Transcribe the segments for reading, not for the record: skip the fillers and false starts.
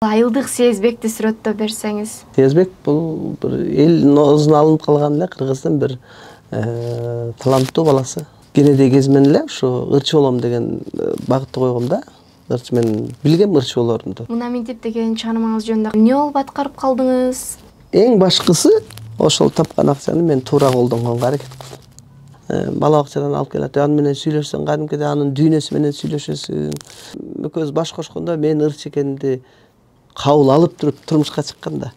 Айылдык Сезбекти сүрөттөп берсеңиз. Сезбек бул бир эл ноозуна алынып калган эле Кыргыздын бир таланттуу баласы. Кенеде кезмен эле ушу ырчы болом деген багытты койгом да. Ырчы мен билгем ырчы болорумду. Мына Ментип деген чыгармаңыз жөнүндө эмне болуп аткарып калдыңыз? Эң башкысы ошол тапкан акчаны мен туура колдонгонго аракет кылдым. Бала бакчадан алып келет, аны менен сүйлөшсөң кадимкидей анын дүйнөсү менен сүйлөшөсүң. Экөөбүз баш кошкондо мен ырчы экенимди кабыл алып туруп турмушка чыккан да.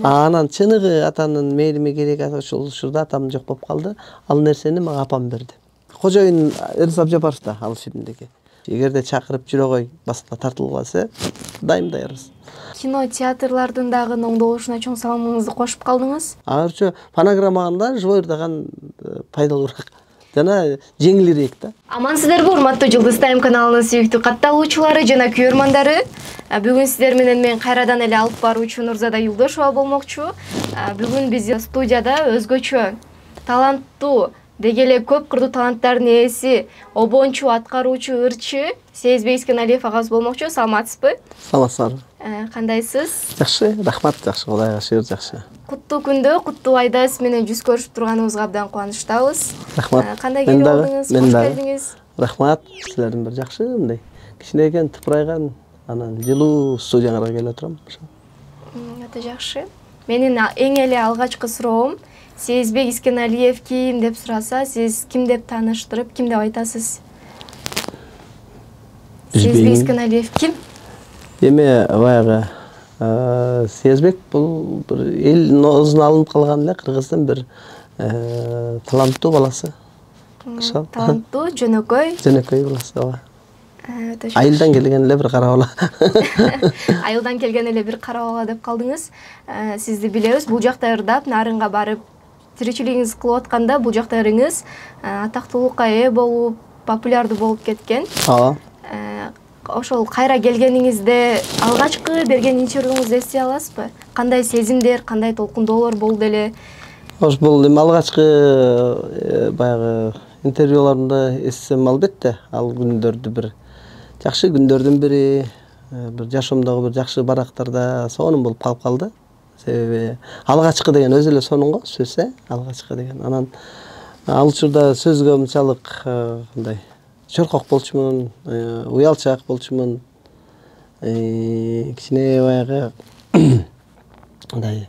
Анан чыныгы атанын мээлими керек ошол учурда атам жок болуп калды. Ал нерсени мага апам берди. Кожоюн Эрис Абжапаров да ал фильмдеги. Эгерде чакырып жүрө кой, баскыла тартылып калса, дайым даярбыз. Кино, театрлардын дагы оңдолушуна чоң салымыңызды кошуп калдыңыз. Азырча фонограммаганда живой ырдаган пайдалуураак жана жеңилирээк да. Амансыздарбы, урматтуу Жылдыз Тайм каналынын сүйүктүү катталуучулары жана көрөрмандары. Бүгүн сиздер менен мен кайрадан эле алып баруучу Нурзада Юлдошова болмокчу. Бүгүн биз студияда өзгөчө таланттуу, деги эле көп кырдуу таланттардын ээси, обончу, аткаруучу ырчы Сезбек Искеналиев агабыз болмокчу. Саламатсызбы? Саламатсызбы? Кандайсыз? Жакшы, рахмат, жакшы, Кудайга шүгүр, жакшы. Куттуу күндө, куттуу айда сиз менен жүз көрүшүп турганыбызга абдан кубанычтабыз. Рахмат. Кандай келип алдыңыз? Кош келдиңиз. Рахмат. Силердин бир жакшы мындай кичинекей тыпырайган анан жылуу студияңарга келип отурам. Өтө жакшы. Менин эң эле алгачкы суроом Сезбек Искеналиев ким деп сураса, сиз ким деп тааныштырып, ким деп айтасыз? Сезбек Искеналиев ким? Эми баягы Сезбек бул бир эл ноозуна алынып калган эле Кыргыздын бир таланттуу баласы. Таланттуу, жөнөкөй. Жөнөкөй баласы, ооба. Өтө жакшы. Айылдан келген эле бир кара бала. Айылдан келген эле бир кара бала деп калдыңыз. Сизди билебиз, бул жакта ырдап, нарынга барып, тиричилигиңиз кылып атканда бул жакта ырыңыз атактуулукка ээ болуп, популярдуу болуп кеткен. Ооба. Ошол кайра келгениңизде алгачкы берген интервьюңузду эстей аласызбы? Кандай сезимдер, кандай толкундоолор болду эле? Бул эми алгачкы баягы интервьюларымда эстесем албетте, ал күндөрдү бир жакшы күндөрдүн бири, бир жашоомдогу бир жакшы барактарда сонун болуп калып калды. Себеби алгачкы деген өзү эле сонун го сөз, алгачкы деген. Анан ал учурда сөзгө мынчалык кандай чоркок болчумун, уялчаак болчумун, кичине баягы мындай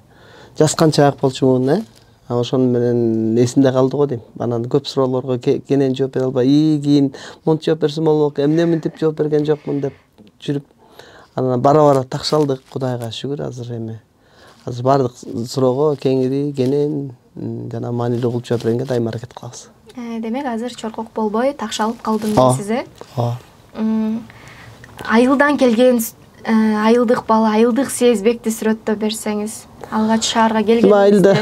жасканчаак болчумун, ошону менен эсимде калды го дейм. Анан көп суроолорго кенен жооп бере албай, кийин монтип жооп берсем болмок, эмне мынтип жооп берген жокмун деп жүрүп, анан бара такшалдык, Кудайга шүгүр. Азыр баардык суроого кеңири, кенен жана маанилүү кылып жооп бергенге дайыма аракет кылабыз. Демек азыр чоркок болбой такшалып калдым дейсиз, Ооба. Айылдан келген айылдык бала, айылдык Сезбекти сүрөттөп берсеңиз, алгач шаарга келгенде.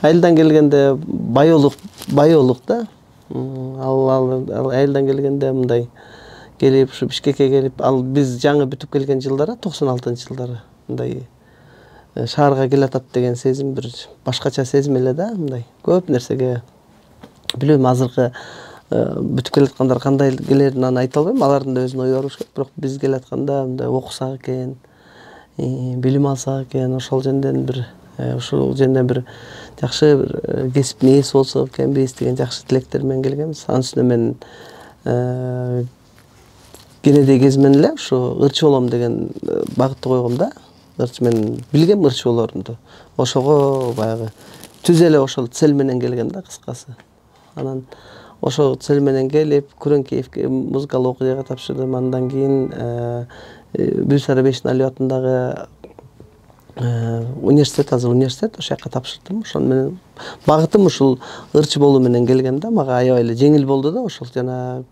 Айылдан келгенде байолук да. Ал айылдан келгенде мындай келип, ушу Бишкекке келип, ал биз жаңы бүтүп келген жылдары, 96-жылдары мындай шаарга келатат деген сезим бир башкача сезим эле да, мындай көп нерсеге билбейм, азыркы бүтүп келаткандар кандай келерин аны айта албайм, алардын да өзүнүн ою бар болуш керек, бирок биз келатканда мындай окусак экен, билим алсак экен, ошол жөнүндө бир жакшы бир кесиптин ээси болсок экенбиз деген жакшы тилектер менен келгенбиз. Анын үстүнө мен кенеде кезмен эле ушу ырчы болом деген багытты койгом да. Ырчы мен билгем ырчы болорумду. Ошого баягы түз эле ошол цель менен келгем да, кыскасы. Анан ошол цель менен келип, Күрөңкеевке музыкалык окуяга тапшырдым. Андан кийин Бюлсара Бейшеналиев атындагы университет, азыр университет, ошол жака тапшырдым. Ошон менен багытым ушул ырчы болуу менен келген да. Мага аябай эле жеңил болду да. Ошол жана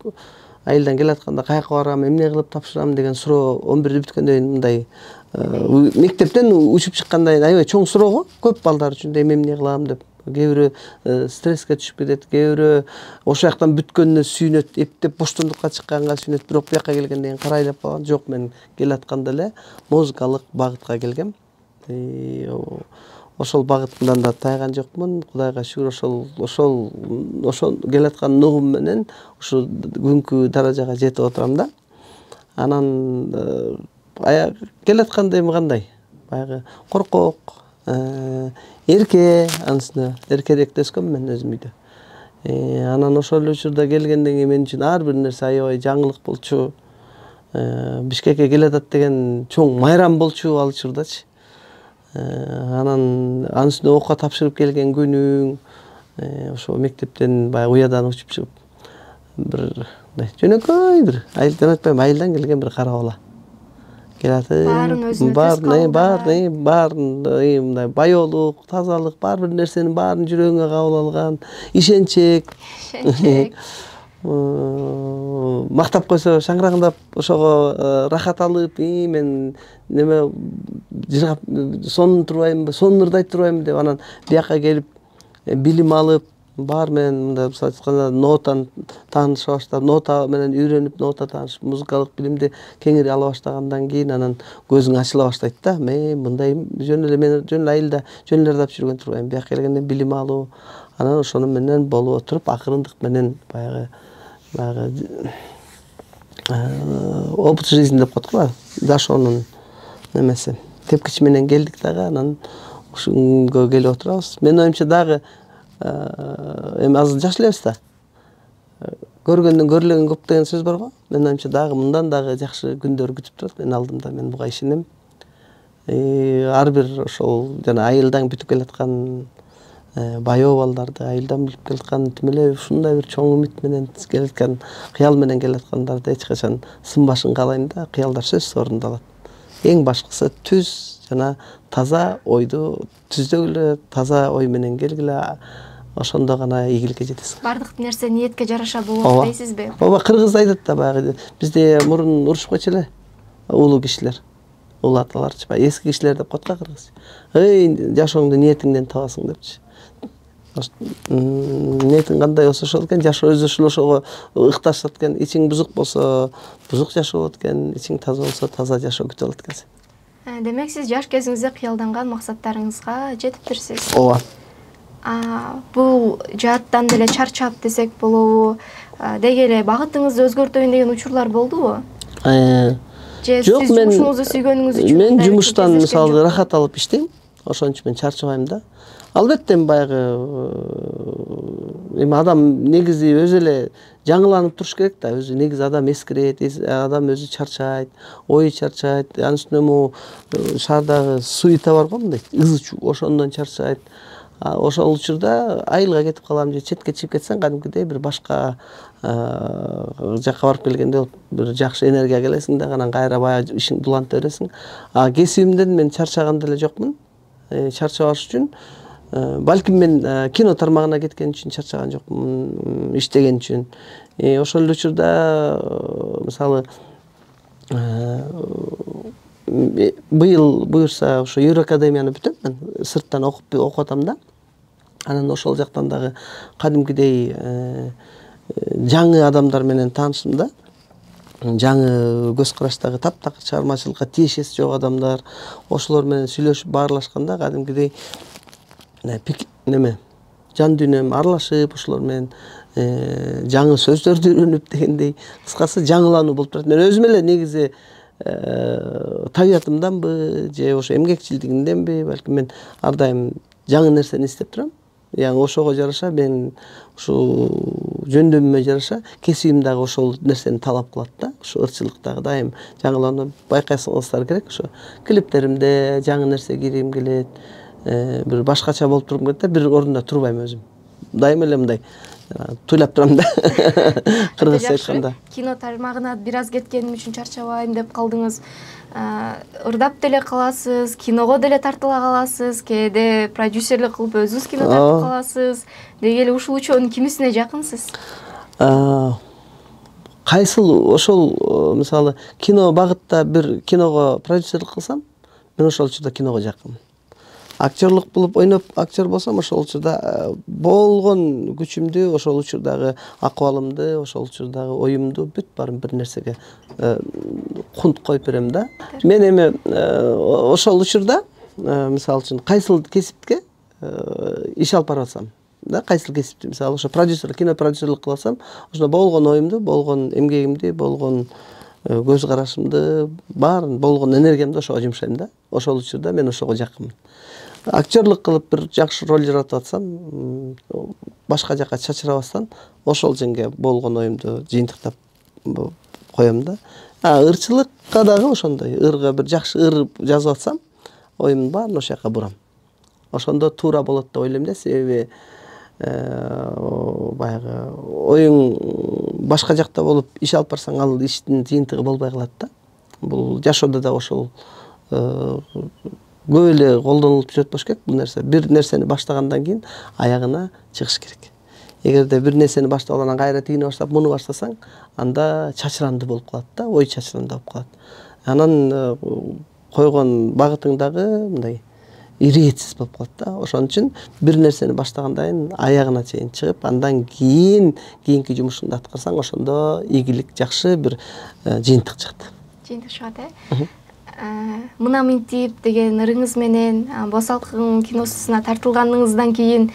айылдан келатканда каяка барам, эмне кылып тапшырам деген суроо 11-дө бүткөндөн кийин мындай мектептен учуп чыккандан кийин аябай чоң суроо го. Көп балдар үчүн эмне кылам деп. Кээ бирөө стресске түшүп кетет, кээ бирөө ошол жактан бүткөнүнө сүйүнөт, эптеп боштондукка чыкканга сүйүнөт, бирок бияка келгенден кийин карайлап калган. Жок, мен келатканда эле музыкалык багытка келгем. Ошол багытымдан да тайган жокмун. Кудайга шүгүр, ошол келаткан нугум менен ушу бүгүнкү даражага жетип отурам да. Анан келатканда эми кандай баягы коркок, эрке, анысына эркерээк өскөм мен өзүм үйдө. Анан ошол учурда келгенден кийин мен үчүн ар бир нерсе аябай жаңылык болчу. Бишкекке келатат деген чоң майрам болчу ал учурдачы. Анан анысына окуга тапшырып келген күнүң, ошо мектептен баягы уядан учуп чыгып бир жөнөкөй бир айылдан айтпайм, айылдан келген бир кара бала. Келатып, баарын мындай байоолук, тазалык, ар бир нерсенин баарын жүрөгүңө кабыл алган, ишенчек. Мактап койсо шаңыраңдап ошого рахат алып, мен неме жыргап сонун турбаймынбы, сонун ырдайт турбаймынбы деп анан бияка келип билим алып, баары менен мындай айтканда нотаны тааныша баштап, нота менен үйрөнүп, нота таанышып, музыкалык билимди кеңири ала баштагандан кийин анан көзүң ачыла баштайт да. Мен мындай жөн эле айылда жөн эле ырдап жүргөн турбайм. Бияка келгенде билим алуу, анан ошону менен болуп отуруп акырындык менен баягы опыт жизни деп коет го, жашоонун немеси. Тепкичи менен келдик дагы, анан ушунгө келип отурабыз. Менин оюмча дагы эми азыр жаш элебиз да. Көргөндөн көрүлгөн көп деген сөз бар го. Менин оюмча дагы мындан дагы жакшы күндөр күтүп турат менин алдымда. Мен буга ишенем. Ар бир ошол жана айылдан бүтүп келаткан байоо балдарды, айылдан билип келаткан тим эле ушундай бир чоң үмүт менен келаткан, кыял менен келаткандарды эч качан сынбашын каалайм да. Кыялдар сөзсүз орундалат. Эң башкысы түз жана таза ойду түздөгүлө, таза ой менен келгиле, ошондо гана ийгиликке жетесиң. Бардык нерсе ниетке жараша болот дейсизби? Ооба, кыргыз айтат да баягы бизде мурун урушуп койчу эле улуу кишилер. Улуу аталарчы, эски кишилер деп коет го кыргыз. Жашооңду ниетиңден табасың депчи. Ниетиң кандай болсо ошол экен, жашоо өзү ошого ыкташат экен. Ичиң бузук болсо бузук жашоо болот экен, ичиң таза болсо таза жашоо күтүп алат экенсиң. Демек сиз жаш кезиңизде кыялданган максаттарыңызга жетиптирсиз. Ооба. Бул жааттан деле чарчап десек болобу? Деги эле багытыңызды өзгөртөйүн деген учурлар болдубу? Же Жок, сиз жумушуңузду сүйгөнүңүз үчүн? Мен жумуштан мисалы рахат алып иштейм. Ошон үчүн мен чарчабайм да. Албетте баягы эми адам негизи өзү эле жаңыланып туруш керек да. Өзү негизи адам эскирет, адам өзү чарчайт, ою чарчайт. Анын үстүнө могу шаардагы суета бар го мындай, ызы чуу, ошондон чарчайт. Ошол учурда айылга кетип калам же четке чыгып кетсең, кадимкидей бир башка жакка барып келгенде бир жакшы энергия келесиң да, анан кайра баягы ишиңди уланта бересиң. Кесибимден мен чарчаган деле жокмун. Чарчабаш үчүн балким мен кино тармагына кеткен үчүн чарчаган жокмун, иштеген үчүн. Ошол эле учурда мисалы быйыл буюрса ошо Евроакадемияны бүтөм мен, сырттан окуп атам да. Анан ошол жактан дагы кадимкидей жаңы адамдар менен таанышым да. Жаңы көз караштагы таптакыр чыгармачылыкка тиешеси жок адамдар, ошолор менен сүйлөшүп баарлашканда кадимкидей жан дүйнөм аралашып, ошолор менен жаңы сөздөрдү үйрөнүп дегендей, кыскасы жаңылануу болуп турат. Мен өзүм эле негизи табиятымданбы же ошо эмгекчилдигимденби, балким мен ар дайым жаңы нерсени издеп турам. Яғни ошого жараша мен ушул жөндөмүмө жараша кесибим дагы ошол нерсени талап кылат да. Ошо ырчылык дагы дайым жаңыланып байкасаңыздар керек. Ошо клиптеримде жаңы нерсе киргим келет, бир башкача болуп тургум келет да, бир орунда турбайм өзүм. Дайым эле мындай туйлап турам да. Кыргызча айтканда. Кино тармагына бир аз кеткеним үчүн чарчабайм деп калдыңыз. Ырдап деле каласыз, киного деле тартыла каласыз, кээде продюсерлик кылып өзүңүз кино тартып каласыз. Деги эле ушул үчөөнүн кимисине жакынсыз? Кайсыл ошол мисалы кино багытта бир киного продюсерлик кылсам, мен ошол учурда киного жакынмын. Актерлук болуп ойноп актер болсом, ошол учурда болгон күчүмдү, ошол учурдагы акыбалымды, ошол учурдагы оюмду бүт баарын бир нерсеге кунт коюп берем да. Мен эми ошол учурда мисалы үчүн кайсыл кесипке иш алып барып атсам, да, кайсыл кесипти мисалы ошо продюсер, кино продюсерлик кылып атсам, ошондо болгон оюмду, болгон эмгегимди, болгон көз карашымды баарын болгон энергиямды ошого жумшайм да. Ошол учурда мен ошого жакынмын. Актерлык кылып бир жакшы роль жаратып атсам, башка жака чачырабастан ошол жерге болгон оюмду жыйынтыктап коем да. Ырчылыкка дагы ошондой. Ырга бир жакшы ыр жазып атсам, оюмдун баарын ошол жака бурам. Ошондо туура болот деп ойлойм да, себеби баягы оюң башка жакта болуп иш алып барсаң, ал иштин жыйынтыгы болбой калат да. Бул жашоодо да ошол көп эле колдонулуп жүрөт болуш керек бул нерсе. Бир нерсени баштагандан кийин аягына чыгыш керек. Эгерде бир нерсени баштап алгандан кайра тигини баштап, муну баштасаң, анда чачыранды болуп калат да, ой чачыранды болуп калат. Анан койгон багытың дагы мындай иретсиз болуп калат да. Ошон үчүн бир нерсени баштагандан кийин аягына чейин чыгып, андан кийинки жумушуңду аткарсаң, ошондо ийгилик жакшы бир жыйынтык чыгат. Жыйынтык чыгат, Мына Минтип деген ырыңыз менен Босалкын киносуна тартылганыңыздан кийин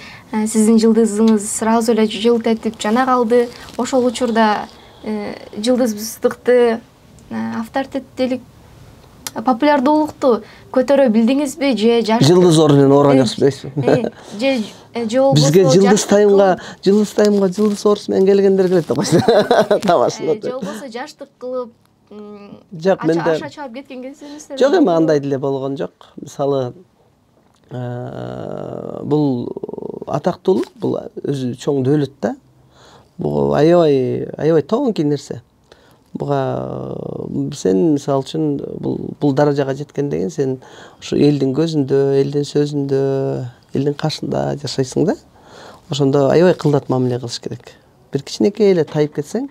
сиздин жылдызыңыз сразу эле жылт этип жана калды. Ошол учурда жылдыздыкты, авторитеттүүлүк, популярдуулукту көтөрө билдиңизби же жаш жылдыз ордунан оорган жакшы дейсизби? Же болбосо бизге жылдыз тайымга жылдыз орус менен келгендер келет деп коюшу. Тамашында. Же болбосо жаштык кылып жок, менде аша чаап кеткен кезиңиздер жок, эми андай деле болгон жок. Мисалы бул атактуулук, бул өзү чоң дөөлөт да. Бул аябай тоңки нерсе. Буга сен мисалы үчүн бул даражага жеткенден кийин сен ушу элдин көзүндө, элдин сөзүндө, элдин кашында жашайсың да. Ошондо аябай кылдат мамиле кылыш керек. Бир кичинекей эле тайып кетсең,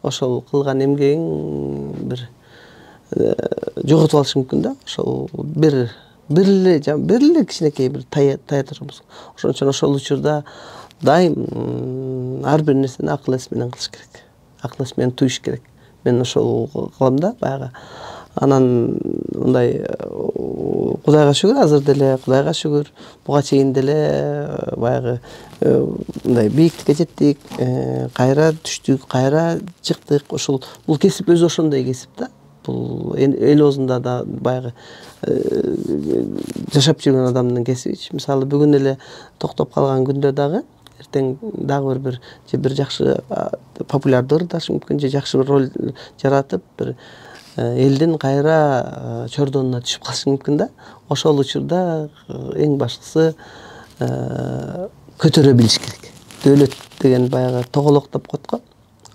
ошол кылган эмгегиң бир жоготуп алышы мүмкүн да. Ошол бир эле кичинекей бир тая турбуз. Ошон үчүн ошол учурда дайым ар бир нерсени акыл эс менен кылыш керек. Акыл эс менен туюш керек. Мен ошол кылам да баягы. Анан мындай Кудайга шүгүр, азыр деле Кудайга шүгүр, буга чейин деле баягы мындай бийиктикке жеттик, кайра түштүк, кайра чыктык. Ошол бул кесип өзү ошондой кесип да. Бул эл оозунда да баягы жашап жүргөн адамдын кесиби. Мисалы бүгүн эле токтоп калган күндө дагы эртең дагы бир жакшы популярдуу ырдаш мүмкүн, же жакшы бир роль жаратып, бир элдин кайра чордонуна түшүп калышы мүмкүн да. Ошол учурда эң башкысы көтөрө билиш керек. Дөөлөт деген баягы тоголок деп коет го.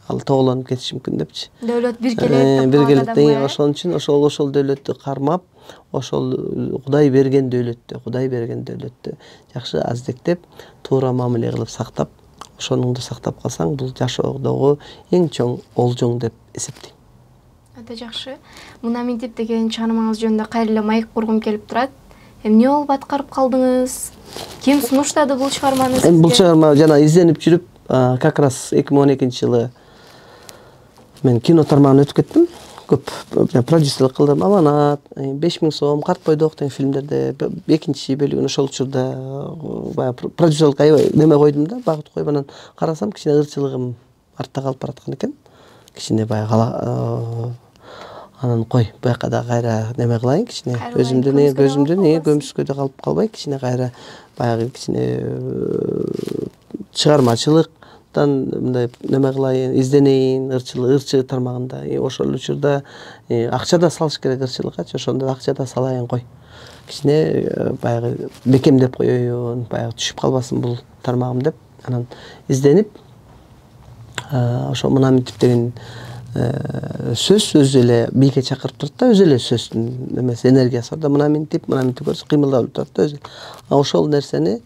Ал тоголонуп кетиши мүмкүн депчи. Дөөлөт биргелет. Ошон үчүн ошол дөөлөттү кармап, ошол Кудай берген дөөлөттү жакшы аздектеп, туура мамиле кылып сактап, ошонуңду сактап калсаң, бул жашоодогу эң чоң олжоң деп эсептейм. Өтө жакшы. Мына Минтип деген чыгармаңыз жөнүндө кайра эле маек кургум келип турат. Эмне болуп аткарып калдыңыз? Ким сунуштады бул чыгарманы сизге? Бул чыгарма жана изденип жүрүп, как раз 2012-жылы мен кино тармагына өтүп кеттим. Көп продюсерлик кылдым. Аманат, 5000 сом, Карт бойдок деген фильмдерде экинчи бөлүгүн ошол учурда баягы продюсерлик аябай неме койдум да, багыт коюп, анан карасам кичине ырчылыгым артта калып бараткан экен. Кичине баягы анан кой, буяка да кайра неме кылайын, кичине көзүмдүн көмүскөдө калып калбай, кичине кайра баягы кичине чыгармачылыктан мындай неме кылайын, изденейин, ырчы тармагында. Ошол учурда акча да салыш керек ырчылыккачы, ошондо акча да салайын кой. Кичине баягы бекемдеп коеюн, баягы түшүп калбасын бул тармагым деп, анан изденип, ошо Мына Минтип деген сөз өзү эле бийикке чакырып турат да, өзү эле сөздүн немеси, энергиясы бар да. Мына Минтип көрсө кыймылдап турат да өзү. Ошол нерсени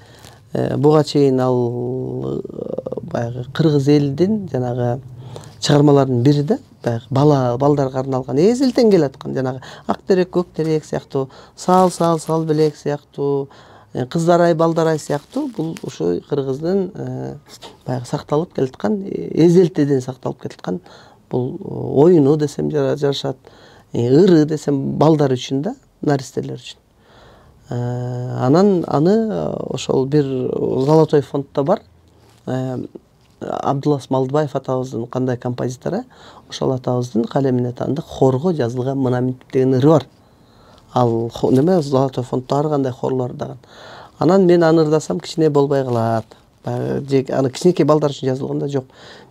буга чейин ал баягы кыргыз элдин жанагы чыгармалардын бири да, баягы балдарга арналган эзелтен келаткан жанагы ак терек, көк терек сыяктуу, сал белек сыяктуу, кыздар-ай, балдар-ай сыяктуу, бул ушу кыргыздын баягы сакталып келаткан, эзелтеден сакталып келаткан бул оюну десем жарашат, ыры десем балдар үчүн да, наристелер үчүн. Анан аны ошол бир золотой фондто бар. Абдулас Малдыбаев атабыздын кандай композитору, ошол атабыздын калемине таандык хорго жазылган Мына Минтип деген ыры бар. Ал неме Золотой фонддо ар кандай хорлор дагы. Анан мен аны ырдасам кичине болбой калат. Баягы аны кичинекей балдар үчүн жазылган да жок.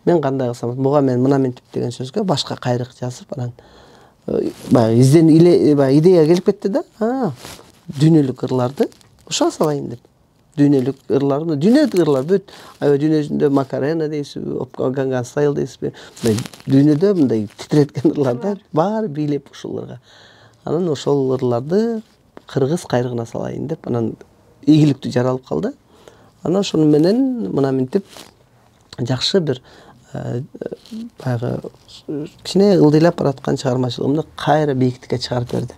Мен кандай кылсам, буга мен Мына Минтип деген сөзгө башка кайрык жазып, анан баягы идея келип кетти да. Дүйнөлүк ырларды ушуга салайын деп. Дүйнөлүк ырларды, дүйнөлүк ырлар бүт. Аябай дүйнө жүзүндө Макарена дейсизби, Gangnam Style дейсизби, дүйнөдө мындай титиреткен ырларда баары бийлеп ушул ырга. Анан ошол ырларды кыргыз кайрыгына салайын деп, анан ийгиликтүү жаралып калды. Анан ошону менен Мына Минтип жакшы бир баягы кичине ылдыйлап бараткан чыгармачылыгымды кайра бийиктикке чыгарып берди.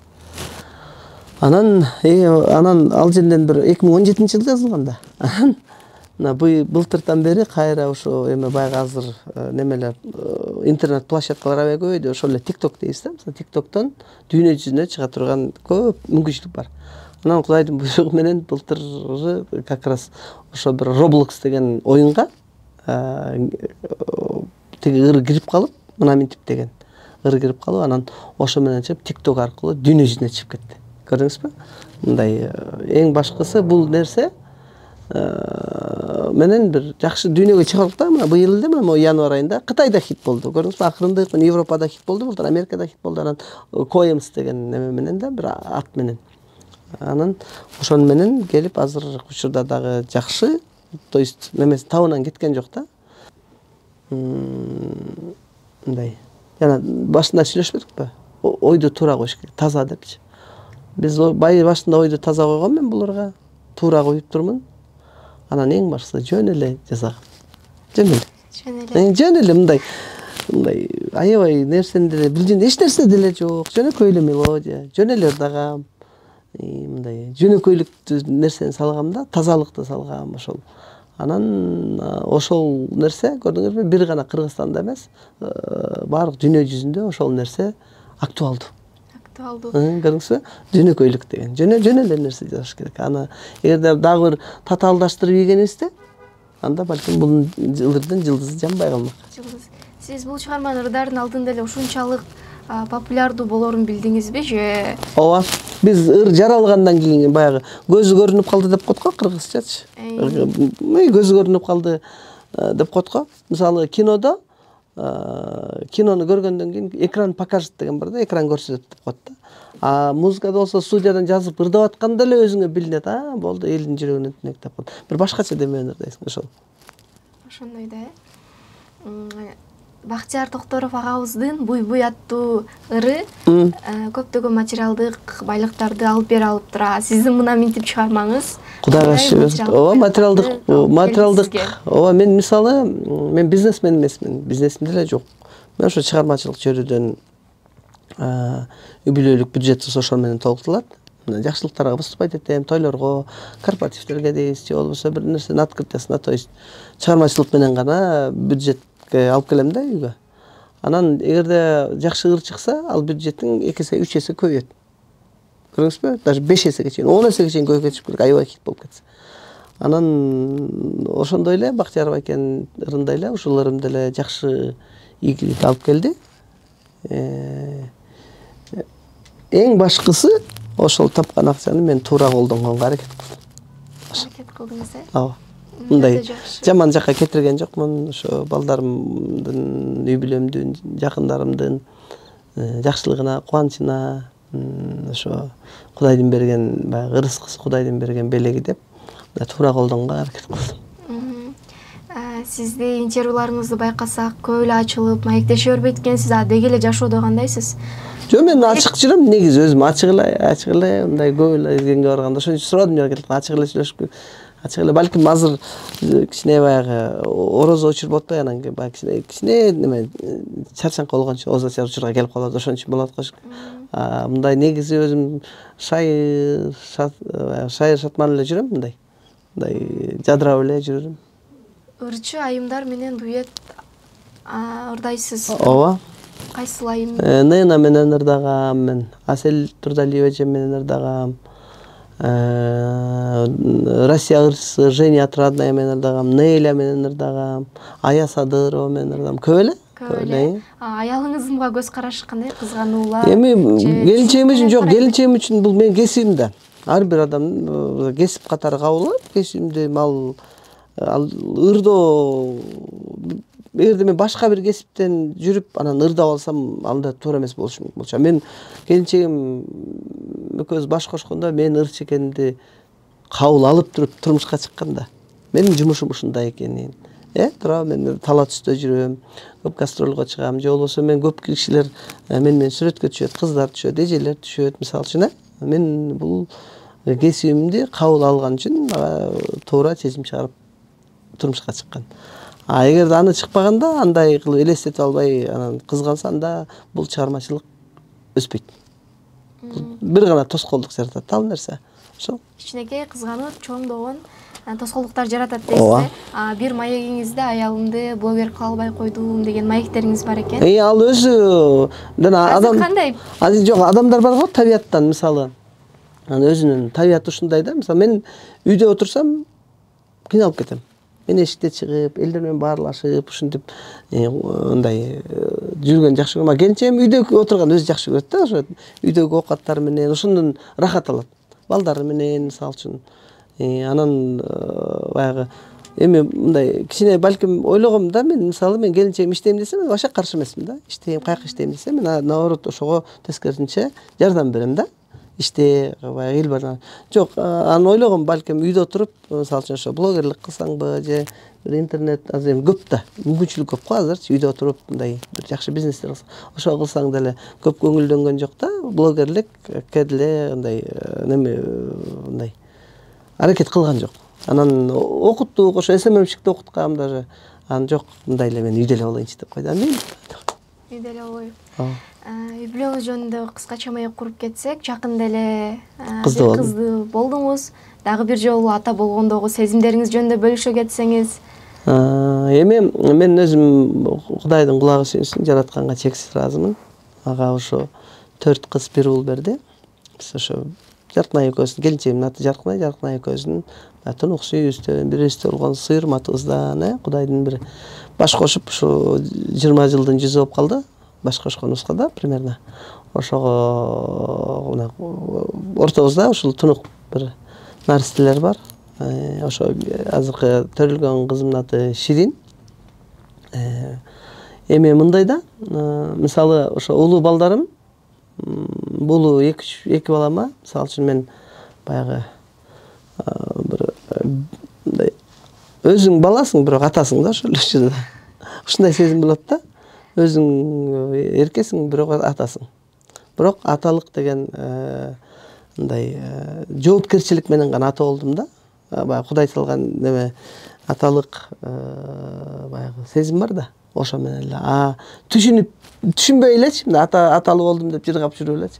Анан ал жерден бир 2017-жылы жазылган да. Анан былтыртан бери кайра ошо эме баягы азыр немелер интернет площадкалар аябай көбөйдү. Ошол эле TikTok дейсиз да. Мисалы TikToктон дүйнө жүзүнө чыга турган көп мүмкүнчүлүк бар. Анан Кудайдын буйругу менен былтыр как раз ошо бир Roblox деген оюнга тиги ыр кирип калып, Мына Минтип деген ыр кирип калып, анан ошо менен чыгып TikTok аркылуу дүйнө жүзүнө чыгып кетти. Көрдүңүзбү? Мындай эң башкысы бул нерсе менен бир жакшы дүйнөгө чыгардык да. Мына быйыл эле мына январь айында Кытайда хит болду. Көрдүңүзбү? Акырындык менен Европада хит болду, былтыр Америкада хит болду. Анан Coems деген неме менен да, бир ат менен. Анан ошону менен келип азыр учурда дагы жакшы, то есть немеси табынан кеткен жок да. Мындай. Жана башында сүйлөшпөдүкпү? Ойду туура коюш керек, таза депчи. Биз башында ойду таза койгон, мен буларга туура коюп турмун. Анан эң башкысы жөн эле жазагам. Жөн эле мындай аябай нерсени деле билген эч нерсе деле жок. Жөнөкөй эле мелодия, жөн эле ырдагам. Мындай жөнөкөйлүктүү нерсени салгам да, тазалыкты салгам ошол. Анан ошол нерсе көрдүңүзбү, бир гана Кыргызстанда эмес, баардык дүйнө жүзүндө ошол нерсе актуалдуу. Көрдүңүзбү? Жөнөкөйлүк деген. Жөн эле нерсе жазыш керек. Аны эгерде дагы бир татаалдаштырып ийгенибизде, анда балким бул ырдын жылдызы жанбай калмак. Сиз бул чыгарманын ырдарын алдында эле ушунчалык популярдуу болорун билдиңизби же? Ооба. Биз ыр жаралгандан кийин баягы көзү көрүнүп калды деп коет го кыргызчачы. Көзү көрүнүп калды деп коет го. Мисалы кинону көргөндөн кийин экран покажет деген бар да, экран көрсөтөт деп коет да. А музыкада болсо студиядан жазып ырдап атканда эле өзүңө билинет. Болду, элдин жүрөгүнө түнөк деп коет. Бир башкача демени ырдайсың ошол. Ошондой да. Бактияр Токторов агабыздын Буй-буй аттуу ыры көптөгөн материалдык байлыктарды алып бере алып тура. Сиздин Мына Минтип чыгармаңыз Кудайга шүгүр. Ооба, материалдык. Ооба, мен мисалы, мен бизнесмен эмесмин. Бизнесим деле жок. Мен ошо чыгармачылык чөйрөдөн юбилейлик бюджет ошол менен толукталат. Жакшылыктарга выступать этем, тойлорго, корпоративдерге дейбиз, же болбосо бир нерсенин открытиясына, то есть чыгармачылык менен гана бюджетке алып келем да үйгө. Анан эгерде жакшы ыр чыкса, ал бюджеттин 2 эсе, 3 эсе көбөйөт. Көрдүңүзбү? Даже 5 эсеге чейин, 10 эсеге чейин көбөйүп кетиш керек, аябай хит болуп кетсе. Анан ошондой эле Бактияр байкенин ырындай эле ушул ырым деле жакшы ийгилик алып келди. Эң башкысы ошол тапкан акчаны мен туура колдонгонго аракет кылдым. Аракет кылдыңыз, э? Ооба. Мындай жаман жакка кетирген жокмун. Ошо балдарымдын, үй бүлөмдүн, жакындарымдын жакшылыгына, кубанычына, ошо Кудайдын берген баягы ырыскысы, Кудайдын берген белеги деп туура колдонгонго аракет кылдым. Сизди интервьюларыңызды байкасак, көп эле ачылып, маектеше бербейт экенсиз. Деги эле жашоодо кандайсыз? Жок, мен ачык жүрөм, негизи өзүм ачык эле мындай көп эле изгенге барганда ошон үчүн сурадым келип, ачык эле сүйлөшүп, ачык эле балким азыр кичине баягы орозо учур болот да, анан баягы кичине неме чарчаңкы болгончо озачар учурга келип калат, ошон үчүн болот го. Мындай негизи өзүм шайыр шатман эле жүрөм, мындай жадырап эле жүрөм. Ырчы айымдар менен дуэт ырдайсыз. Ооба. Кайсыл айым? Нена менен ырдагам мен, Асель Турдалиева эже менен ырдагам. Россия ырчысы Женя Отрадная менен ырдагам, Неля менен ырдагам, Ая Садырова менен ырдагам. Көп эле. Аялыңызга көз карашы кандай? Кызгануулар? Эми келинчегим үчүн жок, келинчегим үчүн бул менин кесибим да. Ар бир адам кесип катары кабыл алат. Кесибимди ал ырдоо, эгерде мен башка бир кесиптен жүрүп анан ырдап алсам, анда туура эмес болушу мүмкүн болчу. Мен келинчегим экөөбүз баш кошкондо мен ырчы экенимди кабыл алып туруп турмушка чыкканда, менин жумушум ушундай экенин, туура мен тала түстө жүрөм, көп гастролго чыгам, же болбосо мен көп кишилер мен менен сүрөткө түшөт, кыздар түшөт, эжелер түшөт, мисалы үчүн, мен бул кесибимди кабыл алган үчүн туура чечим чыгарып турмушка чыккан. Эгерде аны чыкпаганда, андай кылып элестетип албай анан кызганса, анда бул чыгармачылык өспөйт. Бир гана тоскоолдук жаратат, ал нерсе. Ошол. Кичинекей кызганып, чоңдогон тоскоолдуктар жаратат дейсиз. Бир маегиңизде аялымды блогер кыла албай койдум деген маектериңиз бар экен. Ал өзү адам кандай? Жок, адамдар бар го табияттан, мисалы. Өзүнүн табияты ушундай да. Мисалы мен үйдө отурсам кыйналып кетем. Мен эшикте чыгып, элдер менен баарлашып, ушинтип мындай жүргөн жакшы көрөм. Келинчегим үйдө отурган өзү жакшы көрөт да, ошо үйдөгү оокаттары менен ошондон рахат алат. Балдары менен, мисалы үчүн. Анан баягы эми мындай кичине балким ойлогом да, мен мисалы мен келинчегим иштейм десе, мен вообще каршы эмесмин да. Иштейм, каяка иштейм десе, мен наоборот ошого тескерисинче жардам берем да. Иште баягы ил бар. Жок, аны ойлогом, балким үйдө отуруп, мисалы үчүн ошо блогерлик кылсаңбы, же бир интернет азыр көп да, мүмкүнчүлүк көп го азырчы, үйдө отуруп мындай бир жакшы бизнестер кылсаң, ошо кылсаң деле көп көңүлдөнгөн жок да. Блогерлик деле мындай неме мындай аракет кылган жок. Анан окуттук, ошо СММщикте окуткам даже. Анан жок, мындай эле мен үйдө эле болоюнчу деп койду. Үйдө эле болоюн. Үй бүлөңүз жөнүндө кыскача маек куруп кетсек, жакында эле кызды болдуңуз. Дагы бир жолу ата болгондогу сезимдериңиз жөнүндө бөлүшө кетсеңиз. Эми мен өзүм Кудайдын кулагы сүйүнсүн, жаратканга чексиз ыраазымын. Ага ошо 4 кыз, 1 уул берди. Биз ошо Жаркынай экөөбүздүн, келинчегимдин аты Жаркынай, Жаркынай экөөбүздүн тунук сүйүүбүздөн, бирибизде болгон сыйырматыбыздан, Кудайдын бир баш кошуп, ушу 20 жылдын жүзү болуп калды. Баш кошконубузга да примерно. Ошого ортобузда ушул тунук бир наристелер бар. Ошо азыркы төрөлгөн кызымдын аты Ширин. Эми мындай да, мисалы ошо улуу балдарым, бул эки балама, мисалы үчүн мен баягы бир мындай өзүң баласың, бирок атасың да ошол эле. Ушундай сезим болот да. Өзүң эркесиң, бирок атасың. Бирок аталык деген мындай жоопкерчилик менен гана ата болдум да. Баягы Кудай салган неме аталык баягы сезим бар да. Ошо менен эле түшүнбөй элечи, аталуу болдум деп жыргап жүрүп элечи.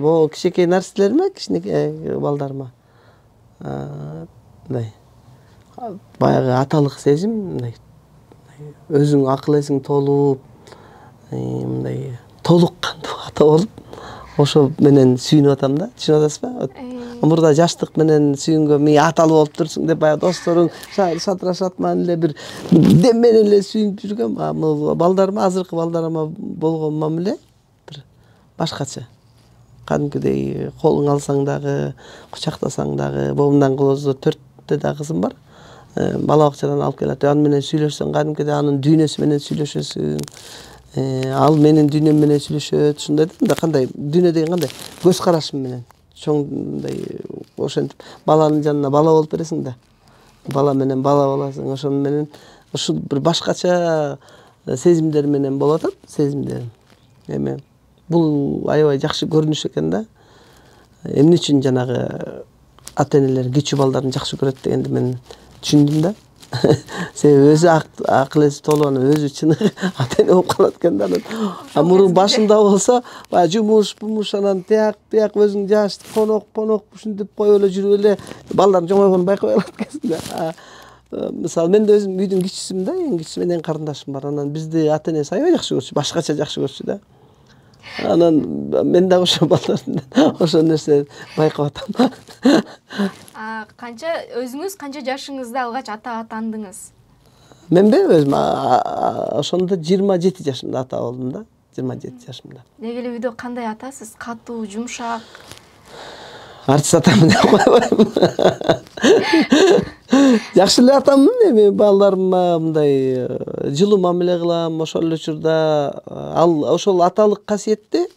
Бул кичинекей нарселерме, кичинекей балдарыма. Мындай баягы аталык сезим, мындай өзүң акыл эсиң толуп, мындай толук кандуу ата болуп, ошо менен сүйүнүп атам да. Түшүнүп атасызбы? Мурда жаштык менен сүйүнгөн, мен аталуу болуп турсуң деп баягы досторуң шатырашат, мен эле бир дем менен эле сүйүнүп жүргөм. Балдарыма, азыркы балдарыма болгон мамиле бир башкача. Кадимкидей колуң алсаң дагы, кучактасаң дагы, боомдон кылоозо 4 да кызым бар. Бала бакчадан алып келет. Аны менен сүйлөшсөң, кадимкидей анын дүйнөсү менен сүйлөшөсүң. Ал менин дүйнөм менен сүйлөшөт. Ушундай да, кандай дүйнө деген кандай көз карашым менен. Чоңдай ошентип баланын жанына бала болуп бересиң да. Бала менен бала боласың. Ошон менен ушул бир башкача сезимдер менен болуп атат, сезимдерим. Эми бул аябай жакшы көрүнүш экен да. Эмне үчүн жанагы ата-энелер кичүү балдарын жакшы көрөт дегенди мен түшүндүм да. Себеби өзү акыл эси толуп анан өзү чын ата-эне болуп калат экен да. Мурун башында болсо, баягы жумуш анан тияк өзүң жаш конок ушинтип коюп эле жүрүп эле балдардын жоңойгонун байкабай калат экенсиң да. Мисалы мен да өзүм үйдүн кичүүсүмүн да, эң кичүүсү менен карындашым бар. Анан бизди ата-энеси аябай жакшы көрчү, башкача жакшы көрчү да. Анан мен дагы ошо балдарымдан ошол нерсе байкап атам. Канча өзүңүз канча жашыңызда алгач ата атандыңыз? Менби өзүм ошондо 27 жашымда ата болдум да. 27 жашымда. Деги эле үйдө кандай атасыз? Катуу, жумшак? Артист атамын деп койбойм. Жакшы эле атаммын, эми балдарыма мындай жылуу мамиле кылам. Ошол эле учурда ал ошол аталык касиетти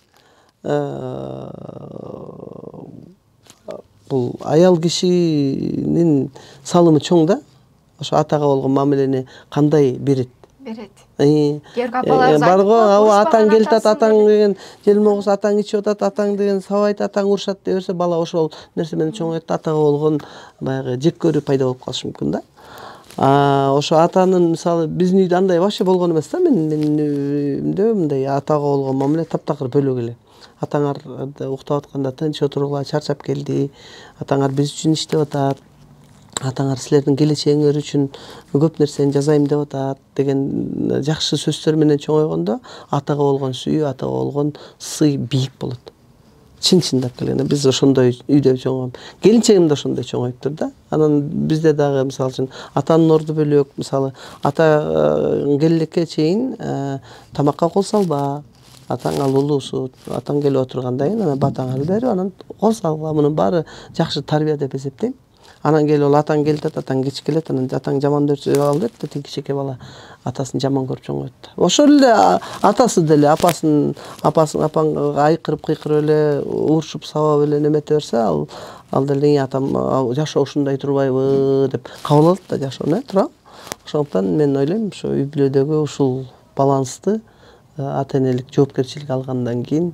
бул аял кишинин салымы чоң да. Ошо атага болгон мамилени кандай берет? Керк апаларыбыз бар го, атаң келип атат, атаң деген желмогуз, атаң ичип атат, атаң деген сабайт, атаң урушат деп берсе, бала ошол нерсе менен чоңойт, атага болгон баягы жек көрүү пайда болуп калышы мүмкүн да. Ошо атанын мисалы биздин үйдө андай вообще болгон эмес да. Менин үйүмдө мындай атага болгон мамиле таптакыр бөлөк эле. Атаңар уктап атканда тынч отургула, чарчап келди, атаңар биз үчүн иштеп атат, атаңар силердин келечегиңер үчүн көп нерсени жасайм деп атат деген жакшы сөздөр менен чоңойгондо атага болгон сүйүү, атага болгон сый бийик болот. Чын-чындап келгенде биз ошондой үйдө чоңойгом. Келинчегим да ошондой чоңоюптур да. Анан бизде дагы мисалы үчүн атанын орду бөлөк, мисалы ата келелекке чейин тамакка кол салба. Атаң ал улуусу, атаң келип отургандан кийин анан батаңарды берип, анан кол салгыла. Мунун баары жакшы тарбия деп эсептейм. Анан келип ол атаң келип атат, атаң кеч келет, анан атаң жаман көрсө ал деп тиги кичинекей бала атасын жаман көрүп чоңойт. Ошол эле атасы деле апасын апаңга айкырып кыйкырып эле урушуп сабап эле немете берсе, ал деле атам жашоо ушундай турбайбы деп кабыл алат да жашоону, туура. Ошондуктан мен ойлойм, ошо үй бүлөдөгү ушул балансты ата энелик жоопкерчилик алгандан кийин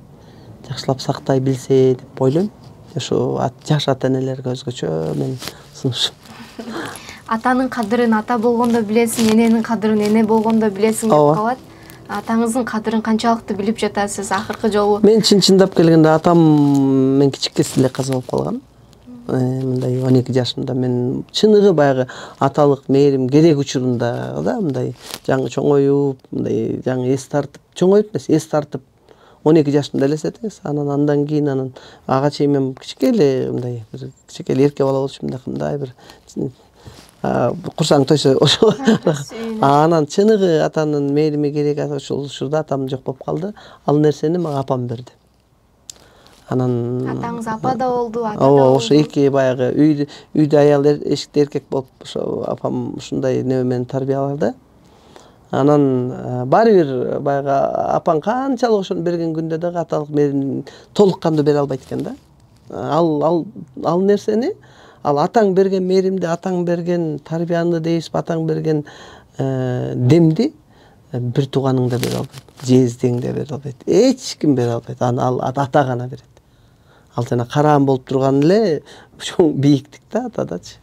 жакшылап сактай билсе деп ойлойм. Ошо жаш ата энелерге өзгөчө мен сунушум. Атанын кадырын ата болгондо билесиң, эненин кадырын эне болгондо билесиң деп калат. Атаңыздын кадырын канчалыкты билип жатасыз акыркы жолу? Мен чын-чындап келгенде атам мен кичикесинен эле каза болуп калган. Мындай 12 жашымда мен чыныгы баягы аталык мээрим керек учурунда да, мындай жаңы чоңоюп, мындай жаңы эс тартып, чоңоюп эмес, эс тартып 12 жашымда элестетиңиз. Андан кийин ага чейин мен кичике эле мындай бир кичике эле эрке бала болчумун да, кандай бир курсаң тойсо ошо. Анан чыныгы атанын мээрими керек ошол учурда атам жок болуп калды. Ал нерсени мага апам берди. Анан атаңыз апа да болду, ата да болду. болду. Ошо эки баягы үйдө аял эшикте эркек болуп ошо апам ушундай неме менен тарбиялады. Анан баары бир баягы апаң канчалык ошону берген күндө дагы аталык мээрин толук кандуу бере албайт экен да. Ал нерсени, ал атаң берген мээримди, атаң берген тарбияны дейсип, атаң берген демди бир тууганың да бере албайт, жездең да бере албайт, эч ким бере албайт. Ал ата гана берет. Ал жана караан болуп турган эле чоң бийиктик да атадачы.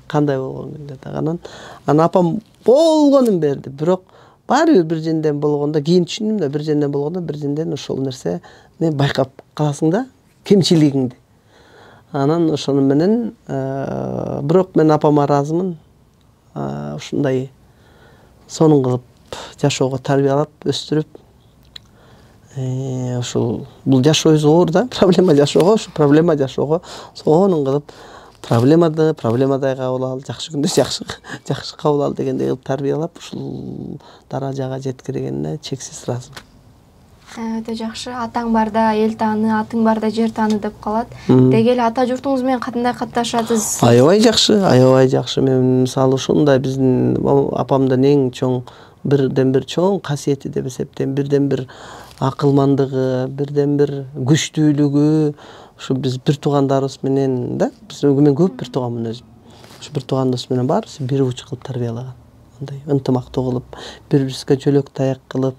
Кандай болгон күндө дагы. Анан апам болгонун берди, бирок баары бир женден болгондо кийин түшүндүм да, бир женден болгондо бир женден ошол нерсе байкап каласың да, кемчилигиңди. Анан ошону менен бирок мен апама ыраазымын. Ушундай сонун кылып жашоого тарбиялап, өстүрүп, ушул бул жашоо зор да, проблема жашоого, ушу проблема жашоого сонун кылып проблемадай кабыл ал, жакшы күндө жакшы кабыл ал дегендей кылып тарбиялап ушул даражага жеткиргенине чексиз ыраазымын. Өтө жакшы. Атаң барда эл тааны, атың барда жер тааны деп калат. Деги эле ата журтуңуз менен кандай катташасыз? Аябай жакшы. Мен мисалы ушундай биздин апамдын эң чоң бирден бир чоң касиети деп эсептейм. Бирден бир акылмандыгы, бирден бир күчтүүлүгү. Ушу биз бир туугандарыбыз менен да, мен көп бир тууганмын өзүм. Ушу бир тууганыбыз менен баарыбыз бир уч кылып тарбиялаган. Мындай ынтымактуу кылып, бири-бирибизге жөлөк таяк кылып,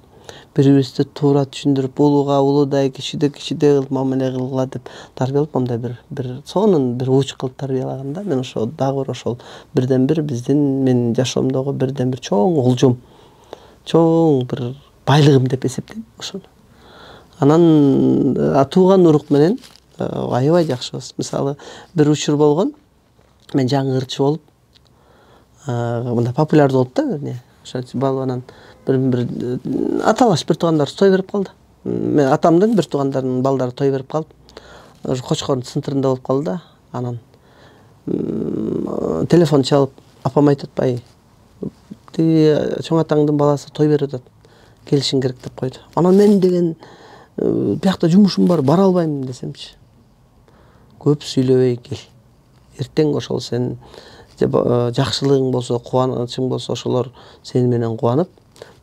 бири-бирибизди туура түшүндүрүп, улууга улуудай, кичиде кичидей кылып мамиле кылгыла деп тарбиялап, мындай бир сонун бир уч кылып тарбиялаган да. Мен ошо дагы бир ошол бирден бир биздин менин жашоомдогу бирден бир чоң олжом, чоң бир байлыгым деп эсептейм ошону. Анан тууган урук менен аябай жакшыбыз. Мисалы бир учур болгон, мен жаңы ырчы болуп, мындай популярдуу болуп да, ошо балбанан бир аталаш бир туугандарыбыз той берип калды. мен атамдын бир туугандарынын балдары той берип калып, Кочкордун центринде болуп калды да. Анан телефон чалып, апам айтат, бай, чоң атаңдын баласы той берип атат. Келишиң керек деп койду. Анан мен деген биякта жумушум бар, бара албайм десемчи. Көп сүйлөбөй кел. Эртең ошол сен жакшылыгың болсо, кубанычың болсо, ошолор сени менен кубанып,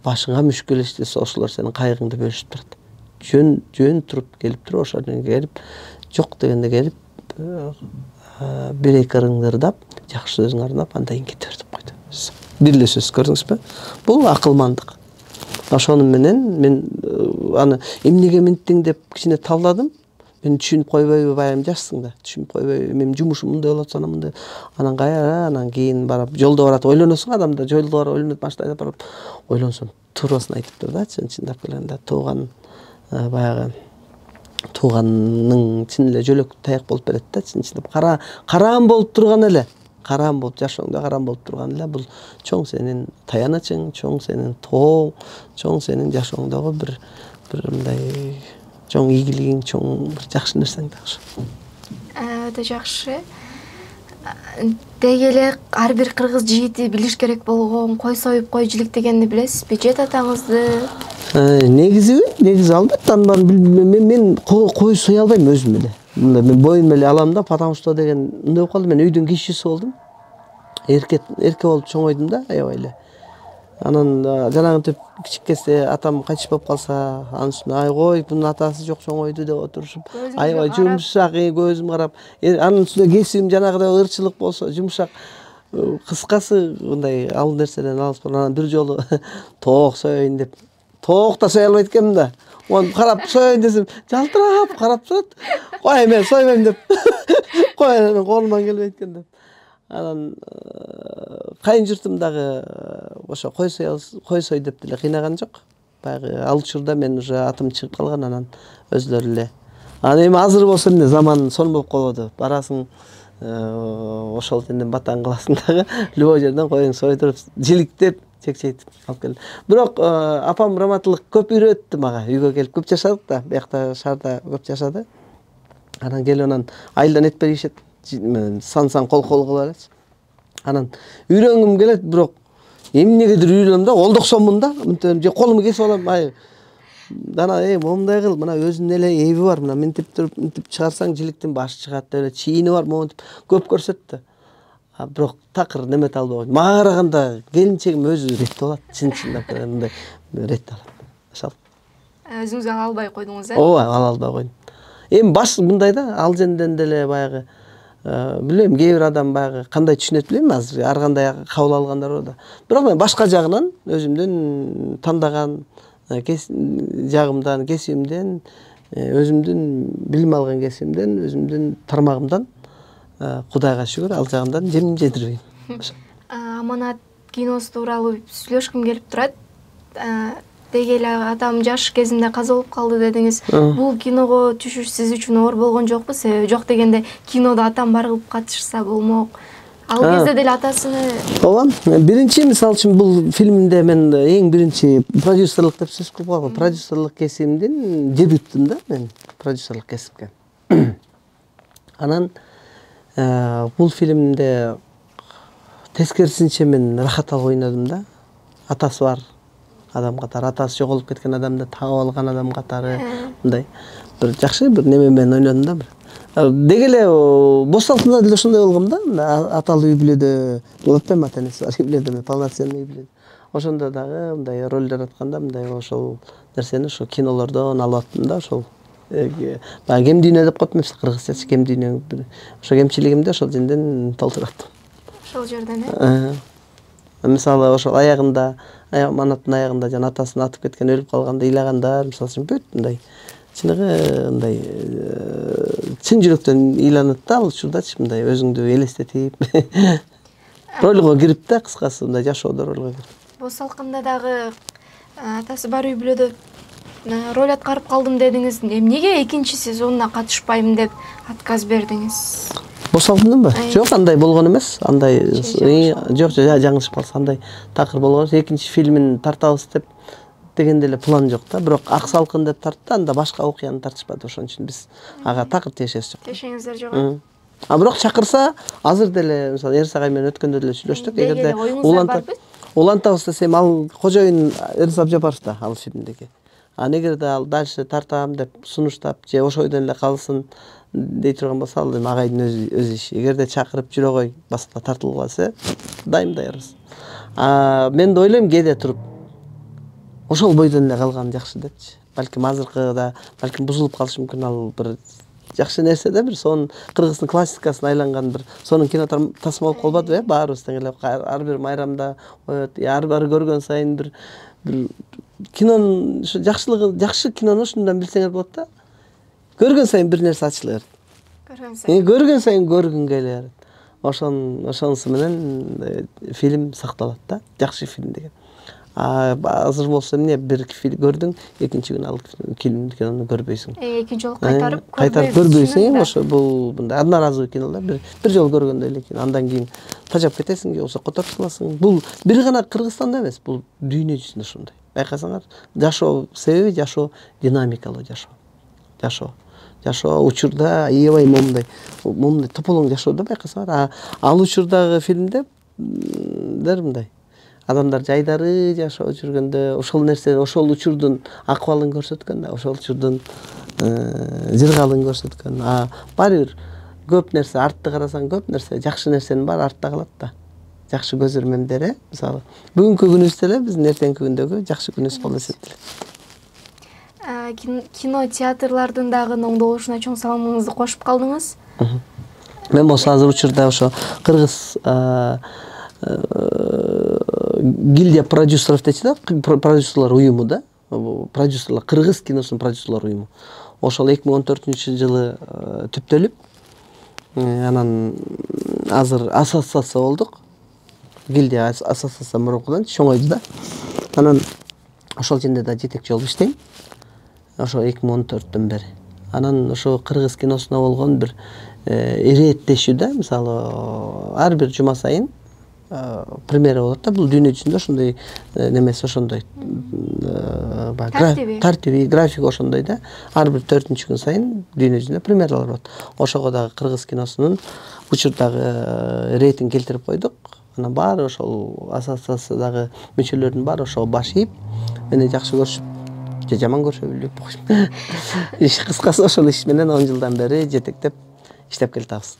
башыңа мүшкүл иш десе, ошолор сенин кайгыңды бөлүшүп турат. Жөн туруп келип туруп, ошол жерге келип, жок дегенде келип, бир эки ырыңдырдап, жакшы сөзүң арнап, андан кийин кете бер деп койду. Бирлешесиз, көрдүңүзбү? Бул акылмандык. Ошону менен мен аны эмнеге минттиң деп кичине талдадым. Мен түшүнүп койбойбу, баягы жашсың да, түшүнүп койбойбу, менин жумушум мындай болот, ана мындай. Анан кайра, анан кийин барып жолдо барат, ойлоносуң адамда, жолдо барып ойлонот, машинада барып ойлонсом, туурасына айтыптыр да, чындап келгенде, баягы тууганның чын эле жөлөк таяк болуп берет да, чындап караан болуп турган эле. Караан болуп, жашооңдо караан болуп турган эле, бул чоң сенин таянычың, чоң сенин тооң, чоң сенин жашооңдогу бир мындай чоң ийгилигиң, чоң бир жакшы нерсең да ошо. Өтө жакшы. Деги эле ар бир кыргыз жигити билиш керек болгон кой союп кой жиликтегенди билесизби? Жет атаңызды? Негизи албетте мен кой сое албайм өзүм эле. Мен боюм эле алам да, потому что деген мындай болуп калды, мен үйдүн кичүүсү болдум. Эрке болуп чоңойдум да, аябай эле. Анан жанагынтип кичиккенде атам кайтыш болуп калса, анын үстүнө ай кой, бунун атасы жок чоңойду деп отурушуп, аябай жумшак, көзүм карап, анын үстүнө кесибим жанагыдай ырчылык болсо, жумшак, кыскасы мындай ал нерседен алыс болуп, анан бир жолу тоок соёюн деп, тоок да сое албайт экенмин да. Оны карап соёюн десем, жалтырап карап турат. Кой, мен сойбойм деп. Кой, анан колуман келбейт экен деп. Анан кайын журтум дагы ошо кой сой деп деле кыйнаган жок. Баягы ал учурда мен уже атым чыгып калган, анан өзлөрү эле. Анан эми азыр болсо эмне, заман сонун болуп калбады. Барасың ошол жерден батаң кыласың дагы, любой жерден коюң сойдуруп, жиликтеп, чекчейтип алып келди. Бирок апам раматылык көп үйрөттү мага. Үйгө келип көп жашадык да, биякта шаарда көп жашады. Анан келип анан айылдан эт беришет. Сан кол кыла элечи. Анан үйрөнгүм келет, бирок эмнегедир үйрөнөм да, олдоксонмун да, мынтем же колумду кесип алам, дана момундай кыл, мына өзүнүн эле эби бар, мына минтип туруп, минтип чыгарсаң жиликтин башы чыгат деп эле чийини бар, момунтип көп көрсөттү. Бирок такыр немете албай койдум. Мага караганда келинчегим өзү реттеп алат, чындап мындай реттеп алат. Ошол. Өзүңүз ала албай койдуңуз, Ооба, ала албай койдум. Эми баш мындай да, ал жерден деле баягы билбейм, кээ бир адам баягы кандай түшүнөт билбейм, азыр ар кандай кабыл алгандар бар да. Бирок мен башка жагынан өзүмдүн тандаган жагымдан, кесибимден, өзүмдүн билим алган кесибимден, өзүмдүн тармагымдан Кудайга шүгүр, ал жагынан жемдирбейм. Аманат киносу тууралуу сүйлөшкүм келип турат. Деги эле атам жаш кезинде каза болуп калды дедиңиз. Бул киного түшүш сиз үчүн оор болгон жокпу? Себеби жок дегенде кинодо атам бар кылып катышса болмок. Ал кезде деле атасыны. Ооба. Биринчи мисалы үчүн бул фильмде мен эң биринчи продюсерлык деп сөз кылып калгам. Продюсерлык кесибимдин дебютум да мен продюсерлык кесипке. Анан бул фильмде тескерисинче мен рахат алып ойнодум да. Атасы бар адам катары, атасы жоголуп кеткен адамды таап алган адам катары, мындай бир жакшы бир неме менен ойнодум да бир. Деги эле бос алтында деле ошондой болгом да. Аталуу үй бүлөдө, болотпайм ата-энеси бар үй бүлөдө, полноценный үй бүлөдө. Ошондо дагы мындай ролдор атканда мындай ошол нерсени ошо кинолордон алып аттым да, ошол баягы кем дүйнө деп коет эмеспи, кыргызчача кем дүйнө. Ошо кемчилигимди ошол жерден толтураттым. Ошол жерден Мисалы ошол аягында, Аманаттын аягында жана атасын атып кеткен, өлүп калганда ыйлагандар, мисалы үчүн бүт мындай чыныгы мындай чын жүрөктөн ыйланат да, ал учурдачы мындай өзүңдү элестетип ролго кирип да, кыскасы мындай жашоодо ролго кирип. Бос алкында дагы атасы бар үй бүлөдө роль аткарып калдым дедиңиз. Эмнеге экинчи сезонуна катышпайм деп отказ бердиңиз? Бос алтындын ба? Жок, андай болгон эмес. Андай жок, жаңылышып калса, андай такыр болгон. Экинчи фильмин тартабыз деп дегенде эле план жок да, бирок ак салкын деп тартты, анда башка окуяны тартышпады, ошон үчүн биз ага такыр тиешебиз жок. Тиешеңиздер жок. А бирок чакырса, азыр деле мисалы Эрсагай менен өткөндө деле сүйлөштүк, эгерде улантабыз десем, ал кожоюн Эрис Абжапаров да ал фильмдеги. Эгерде ал дальше тартам деп сунуштап же ошол ойдон эле калсын дей турган болсо, ал эми агайдын өз иши. Эгерде чакырып жүрө кой, баскыла тартылып калса, дайым даярбыз. Мен да ойлойм, кээде туруп ошол бойдон эле калган жакшы депчи. Балким азыркыда балким бузулуп калышы мүмкүн, ал бир жакшы нерсе да, бир сонун кыргыздын классикасына айланган бир сонун кино тасмалып калбадыбы, баарыбыз тең эле ар бир майрамда коет, ар бир көргөн сайын бир кинонун ушу жакшылыгы, жакшы кинону ушундан билсеңер болот да. Көргөн сайын бир нерсе ачыла берет. Көргөн сайын көргүң келе берет. Ошонусу менен фильм сакталат да, жакшы фильм деген. Азыр болсо эмне, бир фильм көрдүң, экинчи күнү ал кинону көрбөйсүң. Экинчи жолу кайтарып көрбөйсүң, ошо бул мындай одноразовый кинолор, бир жолу көргөндө эле андан кийин тажап кетесиң, же болбосо которуп саласың. Бул бир гана Кыргызстанда эмес, бул дүйнө жүзүндө ушундай. Байкасаңар, жашоо себеби жашоо динамикалуу жашоо. Жашоо учурда аябай момундай тополоң жашоодо байкасаңар, ал учурдагы фильмде мындай адамдар жайдары жашап жүргөндө ошол нерсе, ошол учурдун акыбалын көрсөткөн да, ошол учурдун жыргалын көрсөткөн. Баары бир көп нерсе, артты карасаң көп нерсе, жакшы нерсенин баары артта калат да. Жакшы көзөрмөндөр, мисалы бүгүнкү күнүбүз эле биздин эртеңки күндөгү жакшы күнүбүз болуп эсептелет. Кино театрлардын дагы оңдолушуна чоң салымыңызды кошуп калдыңыз. Мен болсо азыр учурда ошо кыргыз гильдия продюсеров дейт да, продюсерлар уюму да, продюсерлар, кыргыз киносунун продюсерлар уюму. Ошол 2014-жылы түптөлүп, анан азыр ассоциация болдук. Гильдия ассоциация мурункудан чоңойду да. Анан ошол жерде да жетекчи болуп иштейм. Ошо 2014-төн бери. Анан ошо кыргыз киносуна болгон бир ирээттешүү да, мисалы ар бир жума сайын премьера болот да, бул дүйнө жүзүндө ошондой немеси, ошондой тартиби, график ошондой да. Ар бир 4-күн сайын дүйнө жүзүндө премьералар болот. Ошого дагы кыргыз киносунун учурдагы рейтинг келтирип койдук. Анан баары ошол ассоциациядагы мүчөлөрдүн баары ошого баш ийип, мени жакшы көрүшүп, же жаман көрүшө билбейм койм. Иш кыскасы ошол иш менен 10 жылдан бери жетектеп иштеп келатабыз.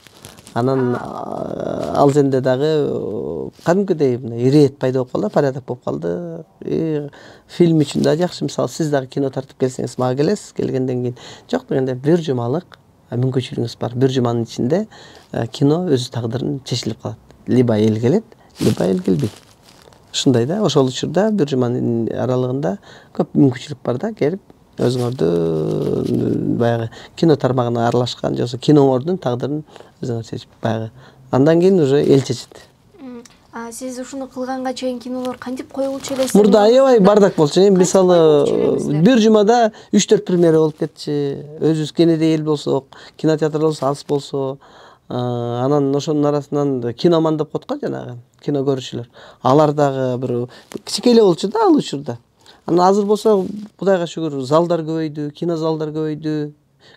Анан ал жерде дагы кадимкидей ирэет пайда болуп калды, порядок болуп калды. Фильм үчүн да жакшы, мисалы сиз дагы кино тартып келсеңиз, мага келесиз, келгенден кийин жок дегенде бир жумалык мүмкүнчүлүгүңүз бар. Бир жуманын ичинде кино өз тагдырын чечилип калат. Либо эл келет, либо эл келбейт. Ушундай да, ошол учурда бир жуманын аралыгында көп мүмкүнчүлүк бар да, келип өзүңөрдү баягы кино тармагына аралашкан, же болбосо киноңордун тагдырын өзүңөр чечип баягы. Андан кийин уже эл чечет. Сиз ушуну кылганга чейин кинолор кантип коюлчу эле? Мурда аябай бардак болчу. Мисалы бир жумада 3-4 премьера болуп кетчү. Өзүбүз кенеде эл болсок, кинотеатрлар болсо аз болсо, анан ошонун арасынан киноман деп коет го жанагы, кино көрүүчүлөр. Алар дагы бир кичике эле болчу да ал учурда. Анан азыр болсо Кудайга шүгүр, залдар көбөйдү, кинозалдар көбөйдү,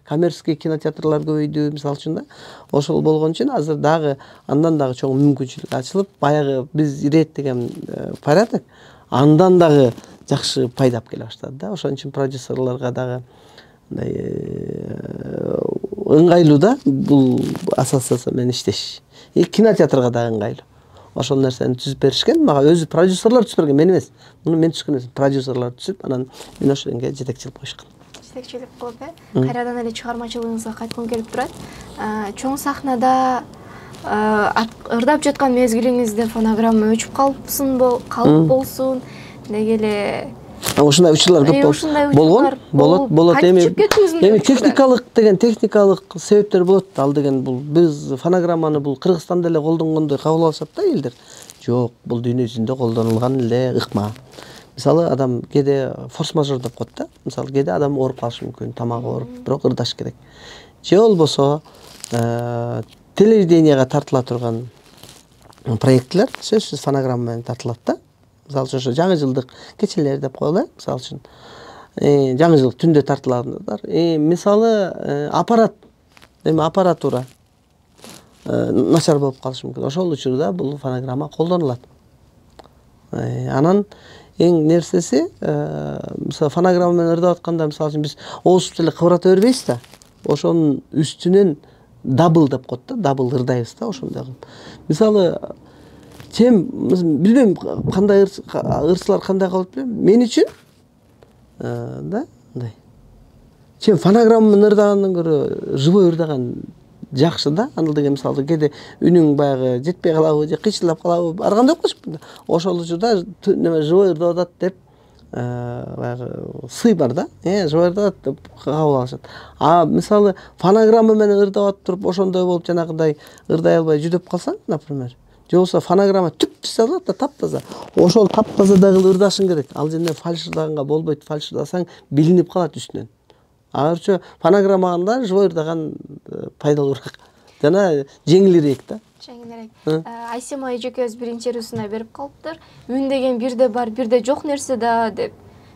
коммерческий кинотеатрлар көбөйдү, мисалы үчүн да. Ошол болгон үчүн азыр дагы андан дагы чоң мүмкүнчүлүк ачылып, баягы биз ирет деген порядок андан дагы жакшы пайдап келе баштады да. Ошон үчүн продюсерларга дагы ыңгайлуу да бул ассоциация менен иштеш. Кинотеатрга дагы ыңгайлуу. Ошол нерсени түзүп беришкен, мага өзү продюсерлар түзүп берген, мен эмес. Муну мен түзгөн эмес, продюсерлар түзүп, анан мен ошондо жетекчилик коюшкан. Жетекчилик кылып, кайрадан эле чыгармачылыгыңызга кайткым келип турат. Чоң сахнада ырдап жаткан мезгилиңизде фонограмма өчүп калып болсун, деги эле ушундай учурлар көп болгон. Болот. Эми техникалык себептер болот. Ал деген бул биз фонограмманы бул Кыргызстанда эле колдонгондой кабыл алышат да элдер. Жок, бул дүйнө жүзүндө колдонулган эле ыкма. Мисалы адам кээде форс-мажор деп коет да. Мисалы кээде адам ооруп калышы мүмкүн, тамагы ооруп, бирок ырдаш керек. Же болбосо телевиденияга тартыла турган проектлер сөзсүз фонограмма менен тартылат да. мисалы үчүн ошо жаңы жылдык кечелер деп коелу, мисалы үчүн жаңы жыл түндө тартылгандар. Мисалы аппаратура начар болуп калышы мүмкүн. Ошол учурда бул фонограмма колдонулат. Анан эң нерсеси, мисалы фонограмма менен ырдап атканда, мисалы үчүн биз оозубузду эле кыбырата бербейбиз да. Ошонун үстүнөн дабл деп коет да, дабл ырдайбыз да, ошондой кылып. Мисалы билбейм кандай ырчылар кандай кылып билбейм. Мен үчүн да, мындай. Фонограмма менен ырдагандан көрө живой ырдаган жакшы да. Аны деген мисалы кээде үнүң баягы жетпей калабы же кыйчылдап калабы, ар кандай окушпун. Ошол учурда неме живой ырдап атат деп баягы сый бар да. Живой ырдап атат деп кабыл алышат. Мисалы фонограмма менен ырдап атып туруп ошондой болуп жанагындай ырдай албай жүдөп калсаң, например, же болбосо фонограмма түп-түз алат да, таптаза. Ошол таптазада кылып ырдашың керек. Ал жерден фальшырдаганга болбойт. Фальшырдасаң билинип калат үстүнөн. Аларча фонограммаганда живой ырдаган пайдалуураак жана жеңилирээк да. Жеңилирээк. Айсема эжекебиз биринчи интервьюсуна берип калыптыр. Үн деген бирде бар, бирде жок нерсе да деп.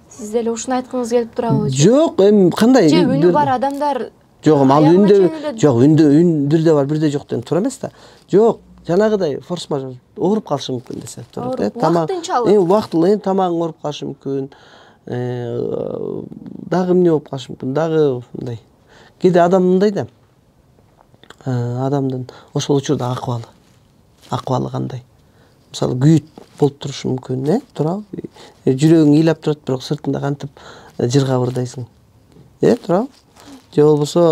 Сиз деле ушуну айткыңыз келип турабы? Жок, кандай? Же үнү бар адамдар жок, ал үндө жок, үн бирде бар, бирде жок деген туура эмес да. Жок, жанагыдай форс-мажор ооруп калышы мүмкүн десе. Убактылуу тамагың ооруп калышы мүмкүн. Дагы эмне болуп калышы мүмкүн, дагы мындай. Кээде адам мындай да. Адамдын ошол учурда акыбалы кандай? Мисалы күйүт болуп турушу мүмкүн, туурабы? Жүрөгүң ыйлап турат, бирок сыртында кантип жыргап ырдайсың. Туурабы? Же болбосо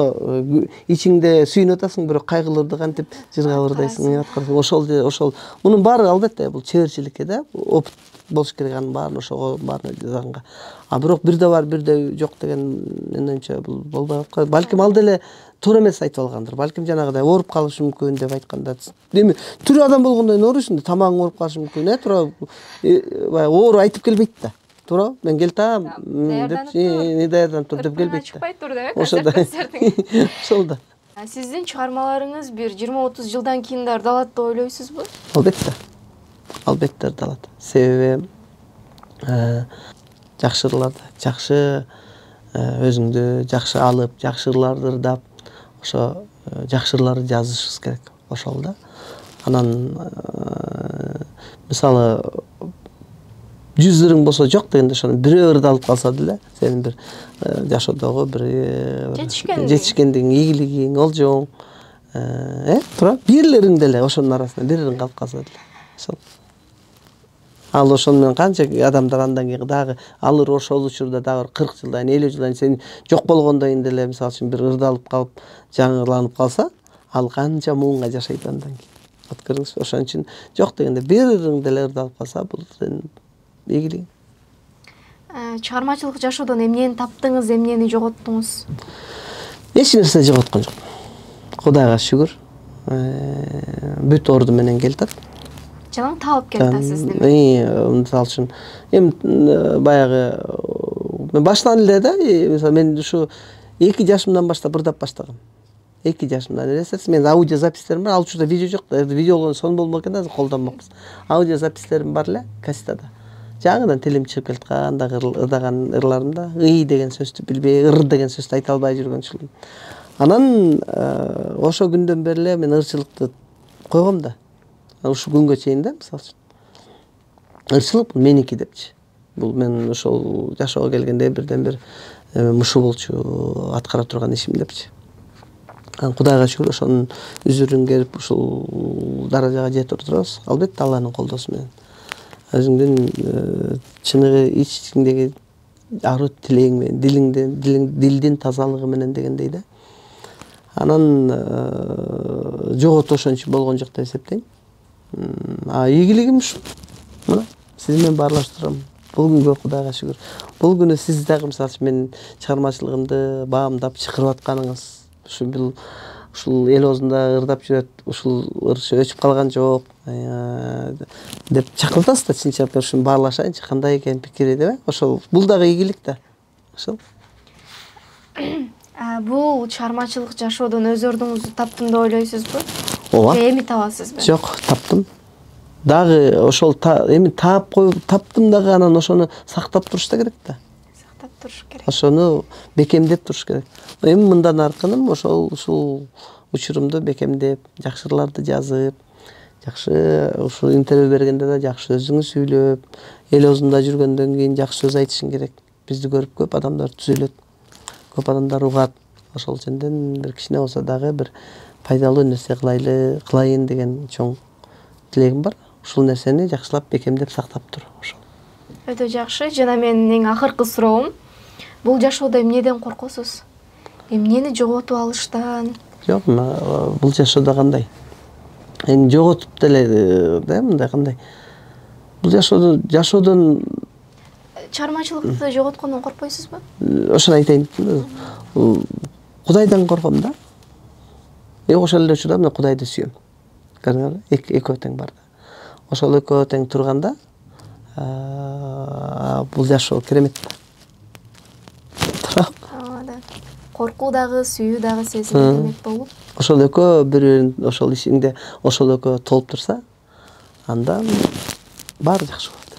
ичиңде сүйүнүп атасың, бирок кайгыларды кантип жыргап ырдайсың, ошол. Мунун баары албетте бул чеберчиликке да, опыт болуш керек, анын баарын ошого баарына жазганга. Бирок бирде бар, бирде жок деген менимче бул болбой аткан. Балким ал деле туура эмес айтып алгандыр. Балким жанагыдай ооруп калышы мүмкүн деп айтканда. Эми тирүү адам болгондон кийин ооруйсуң, тамагың ооруп калышы мүмкүн, туура. Баягы оору айтып келбейт да. Туура, мен келтам деп, даярданып тур деп келбейт да. Чыкпай тур деп, ошол да. Сиздин чыгармаларыңыз бир 20-30 жылдан кийин да ырдалат деп ойлойсузбу? Албетте. Албетте ырдалат. Себеби жакшы ырларды, жакшы өзүңдү жакшы алып, жакшы ырларды ырдап, ошо жакшы ырларды жазышыбыз керек. Ошол да. Анан мисалы 100 ырың болсо жок дегенде ошону бирөө ырдалып калса деле, сенин бир жашоодогу бир жетишкендигиң, ийгилигиң, олжоң, туура, бирлериң деле ошонун арасынан бир ырың калып калса деле. Ошол. Ал ошону менен канча адамдар андан кийин дагы алыр ошол учурда дагы 40 жылдан, 50 жылдан сен жок болгондон кийин деле мисалы үчүн бир ырдалып калып, жаңыланып калса, ал канча муңга жашайт андан кийин. От көрүңүзбү? Ошон үчүн жок дегенде бир ырың деле ырдалып калса, бул сенин ийгилигиң. Чыгармачылык жашоодон эмнени таптыңыз, эмнени жоготтуңуз? Эч нерсе жоготкон жок. Кудайга шүгүр. Бүт орду менен келатат. Жалаң таап келатасыз деме. Мисалы үчүн эми баягы мен баштан эле да, мисалы мен ушу 2 жашымдан баштап ырдап баштагам. 2 жашымдан элестетсиз, мен аудио записьтерим бар, ал учурда видео жок, видео болгон сон болмок экен, азыр колдонмокпуз. Аудио записьтерим бар эле, кассетада. Жаңыдан тилим чыгып келаткан, дагы ырдаган ырларымда ый деген сөздү билбей, ыр деген сөздү айта албай жүргөн жылым. Анан ошо күндөн бери эле мен ырчылыкты койгом да. Ушу күнгө чейин да, мисалы үчүн. Ырчылык бул меники депчи. Бул мен ошол жашоого келгенде бирден бир мушу болчу, аткара турган ишим депчи. Кудайга шүгүр ошонун үзүрүн келип ушул даражага жетип турабыз. Албетте Алланын колдоосу менен. Өзүңдүн чыныгы ичиңдеги ару тилең менен, дилдин тазалыгы менен дегендей да. Анан жоготу ошончо болгон жок деп эсептейм. Ийгилигим ушул. Мына сиз менен баарлаштырам. Бул күнгө Кудайга шүгүр. Бул күнү сиз дагы мисалы үчүн менин чыгармачылыгымды баамдап чакырып атканыңыз, ушул эл оозунда ырдап жүрөт, ушул ырчы өчүп калган жок деп чакыртасыз да, чын чакырып ушуну баарлашайынчы, кандай экен пикири деп. Ошол бул дагы ийгилик да. Ошол. Бул чыгармачылык жашоодон өз ордуңузду таптым деп ойлойсузбу? Ооба. Эми табасызбы? Жок, таптым. дагы ошол эми таап коюп таптым дагы анан ошону сактап туруш да керек да. Сактап туруш керек. Ошону бекемдеп туруш керек. Эми мындан аркыным ушул учурумду бекемдеп, жакшыларды жазып, жакшы ушул интервью бергенде да жакшы сөзүңү сүйлөп, эл оозунда жүргөндөн кийин жакшы сөз айтышың керек. Бизди көрүп көп адамдар түзөлөт. Көп адамдар угат. Ошол үчүндөн бир кичине болсо дагы бир пайдалуу нерсе кылайын деген чоң тилегим бар. Ушул нерсени жакшылап бекемдеп сактап тур. Ошол. Өтө жакшы. Жана менин эң акыркы суроом, бул жашоодо эмнеден коркосуз? Эмнени жоготуп алыштан? Жок, бул жашоодо кандай? Эми жоготуп деле да мындай кандай? Бул жашоодон чыгармачылыкты жоготкондон коркпойсузбу? Ошону айтайын. Кудайдан корком да. Ошол эле учурда мен Кудайды сүйөм. Көрдүңөрбү? Экөө тең бар да. Ошол экөө тең турганда бул жашоо керемет да. Коркуу дагы, сүйүү дагы сезим демек болуп. Ошол экөө бири-бирин ошол ишиңде ошол экөө толуп турса, анда баары жакшы болот.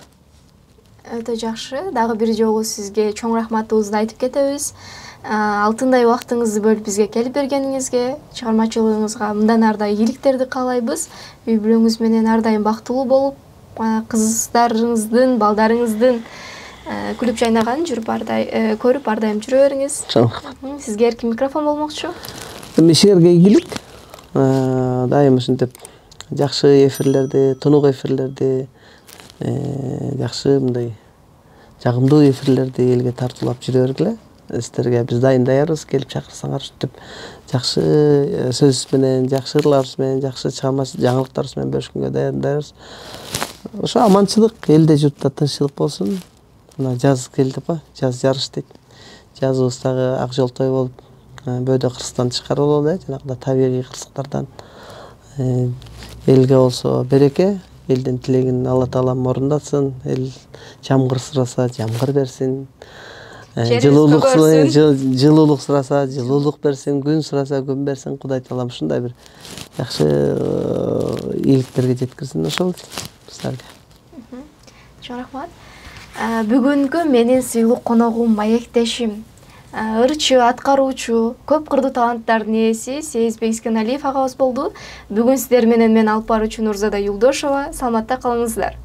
Өтө жакшы. Дагы бир жолу сизге чоң рахматыбызды айтып кетебиз. Алтындай убактыңызды бөлүп бизге келип бергениңизге, чыгармачылыгыңызга мындан ары да ийгиликтерди каалайбыз. Үй бүлөңүз менен ар дайым бактылуу болуп, кыздарыңыздын, балдарыңыздын күлүп жайнаганын көрүп ар дайым жүрө бериңиз. Сизге эркин микрофон болмокчу. Силерге ийгилик. Дайым ушинтип жакшы эфирлерди, тунук эфирлерди, жакшы мындай жагымдуу эфирлерди элге тартуулап жүрө бергиле. Сиздерге биз дайын даярбыз, келип чакырсаңар ушинтип жакшы сөз менен, жакшы ырларыбыз менен, жакшы жаңылыктарыбыз менен бөлүшкөнгө даярбыз. Ошо аманчылык, элде журтта тынччылык болсун. Мына жаз келди го, жаз жарыш дейт. Жазыбыз дагы ак жолтой болуп, бөөдө кырсыктан тышкары бололу, жанагындай табигый кырсыктардан. Элге болсо береке, элдин тилегин Алла Таалам орундатсын. Эл жамгыр сураса, жамгыр берсин. Жылуулук сураса, жылуулук берсин, күн сураса, күн берсин. Кудай Таалам ушундай бир жакшы ийгиликтерге жеткирсин ошол силерге. Чоң рахмат. Бүгүнкү менин сыйлуу коногум, маектешим, ырчы, аткаруучу, көп кырдуу таланттардын ээси Сезбек Искеналиев агабыз болду. Бүгүн сиздер менен мен алып баруучу Нурзада Юлдошова. Саламатта калыңыздар.